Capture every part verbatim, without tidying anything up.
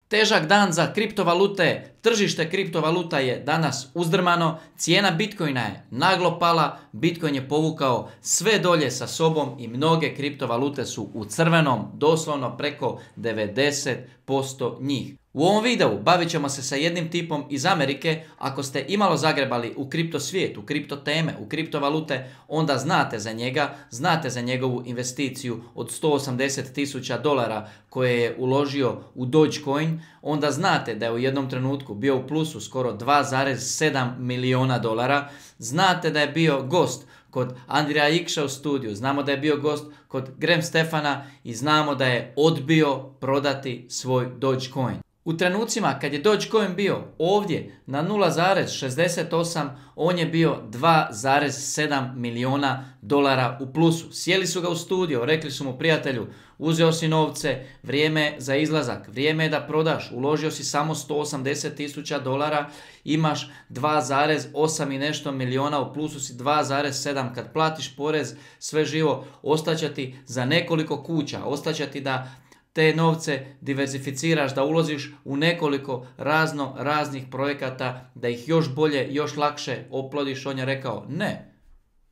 Težak dan za kriptovalute, tržište kriptovaluta je danas uzdrmano, cijena Bitcoina je naglo pala, Bitcoin je povukao sve dolje sa sobom i mnoge kriptovalute su u crvenom, doslovno preko devedeset posto njih. U ovom videu bavit ćemo se sa jednim tipom iz Amerike. Ako ste imalo zagrebali u kripto svijet, u kripto teme, u kriptovalute, onda znate za njega, znate za njegovu investiciju od sto osamdeset tisuća dolara koje je uložio u Dogecoin, onda znate da je u jednom trenutku bio u plusu skoro dva zarez sedam milijuna dolara, znate da je bio gost kod Andrija Ikša u studiju, znamo da je bio gost kod Graham Stefana i znamo da je odbio prodati svoj Dogecoin. U trenucima kad je Dogecoin bio ovdje na nula zarez šezdeset osam, on je bio dva zarez sedam milijuna dolara u plusu. Sjeli su ga u studio, rekli su mu: prijatelju, uzeo si novce, vrijeme je za izlazak, vrijeme je da prodaš, uložio si samo sto osamdeset tisuća dolara, imaš dva zarez osam i nešto milijuna, u plusu si dva zarez sedam, kad platiš porez, sve živo, ostaće ti za nekoliko kuća, ostaće ti da te novce diversificiraš, da uložiš u nekoliko razno raznih projekata, da ih još bolje, još lakše oplodiš. On je rekao: ne,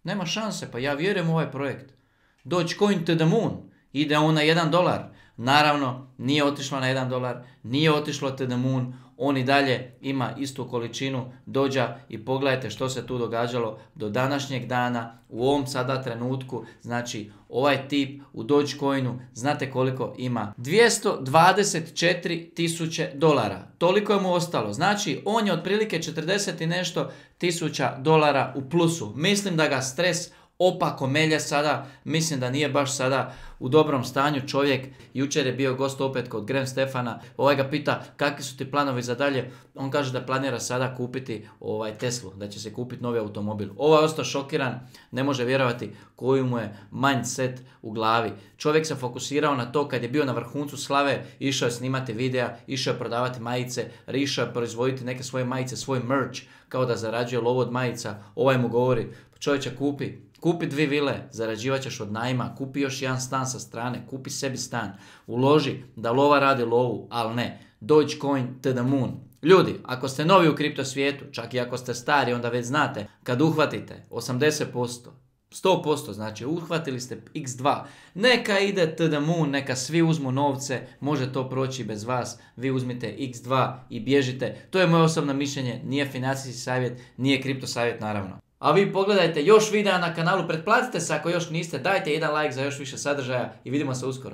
nema šanse, pa ja vjerujem u ovaj projekt. Dogecoin to the moon, ide on na jedan dolar. Naravno, nije otišlo na jedan dolar, nije otišlo to the moon, on i dalje ima istu količinu dođa i pogledajte što se tu događalo do današnjeg dana, u ovom sada trenutku. Znači, ovaj tip u Dogecoinu, znate koliko ima? dvjesto dvadeset četiri tisuće dolara. Toliko je mu ostalo. Znači, on je otprilike četrdeset i nešto tisuća dolara u plusu. Mislim da ga stres opako melje sada, mislim da nije baš sada u dobrom stanju čovjek. Jučer je bio gost opet kod Graham Stefana, ovaj ga pita kakvi su ti planovi za dalje, on kaže da planira sada kupiti ovaj Teslu, da će se kupiti novi automobil. Ovaj je ostao šokiran, ne može vjerovati koji mu je mindset u glavi. Čovjek se fokusirao na to kad je bio na vrhuncu slave, išao je snimati videa, išao je prodavati majice, išao je proizvoditi neke svoje majice, svoj merch, kao da zarađuje lovu od majica. Ovaj mu govori: čovječe, kupi Kupi dvi vile, zarađivat ćeš od najma, kupi još jedan stan sa strane, kupi sebi stan, uloži da lova radi lovu, ali ne. Dogecoin to the moon. Ljudi, ako ste novi u kripto svijetu, čak i ako ste stari, onda već znate, kad uhvatite osamdeset posto, sto posto, znači uhvatili ste iks dva, neka ide to the moon, neka svi uzmu novce, može to proći bez vas, vi uzmite iks dva i bježite. To je moje osobno mišljenje, nije financijski savjet, nije kripto savjet naravno. A vi pogledajte još videa na kanalu, pretplatite se ako još niste, dajte jedan like za još više sadržaja i vidimo se uskoro.